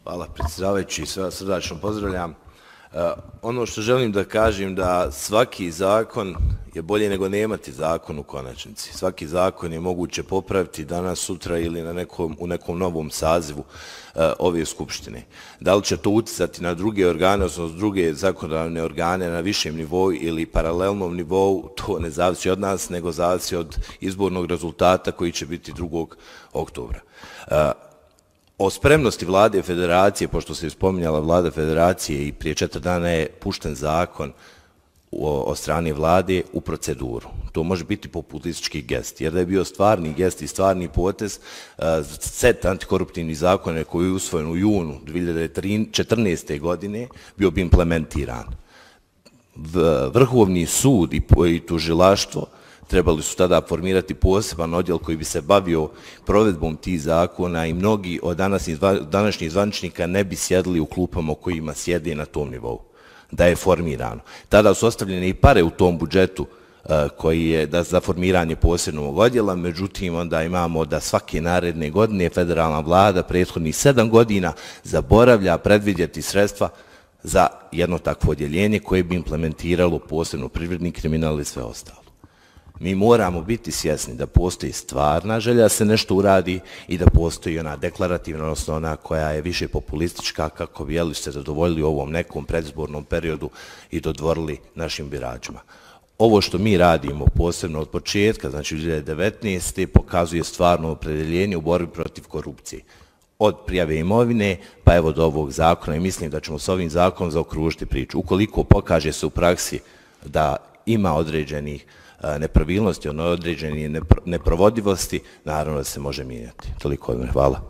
Hvala predsjedavajući, sve vas srdačno pozdravljam. Ono što želim da kažem da svaki zakon je bolje nego nemati zakon u konačnici. Svaki zakon je moguće popraviti danas, sutra ili u nekom novom sazivu ove skupštine. Da li će to uticati na druge organe, odnosno druge zakonodavne organe na višem nivou ili paralelnom nivou, to ne zavisi od nas, nego zavisi od izbornog rezultata koji će biti 2. oktobra. O spremnosti vlade federacije, pošto se spominjala vlada federacije i prije 4 dana je pušten zakon od strane vlade u proceduru. To može biti populistički gest, jer da je bio stvarni gest i stvarni potez, set antikoruptivnih zakona koji je usvojen u junu 2014. godine bio bi implementiran. Vrhovni sud i tužilaštvo trebali su tada formirati poseban odjel koji bi se bavio provedbom tih zakona i mnogi od današnjih zvaničnika ne bi sjedili u klupama u kojima sjede na tom nivou, da je formirano. Tada su ostavljene i pare u tom budžetu koji je za formiranje posebnog odjela, međutim onda imamo da svake naredne godine federalna vlada prethodnih 7 godina zaboravlja predvidjeti sredstva za jedno takvo odjeljenje koje bi implementiralo posebno privredni kriminal i sve ostalo. Mi moramo biti svjesni da postoji stvarna želja da se nešto uradi i da postoji ona deklarativna, odnosno ona koja je više populistička kako bi se zadovoljili u ovom nekom predizbornom periodu i dodvorili našim biračima. Ovo što mi radimo posebno od početka, znači 2019. pokazuje stvarno opredeljenje u borbi protiv korupcije. Od prijave imovine pa evo do ovog zakona i mislim da ćemo s ovim zakonom zaokružiti priču. Ukoliko pokaže se u praksi da ima određenih nepravilnosti, određenih neprovodivosti, naravno da se može mijenjati. Toliko od mene. Hvala.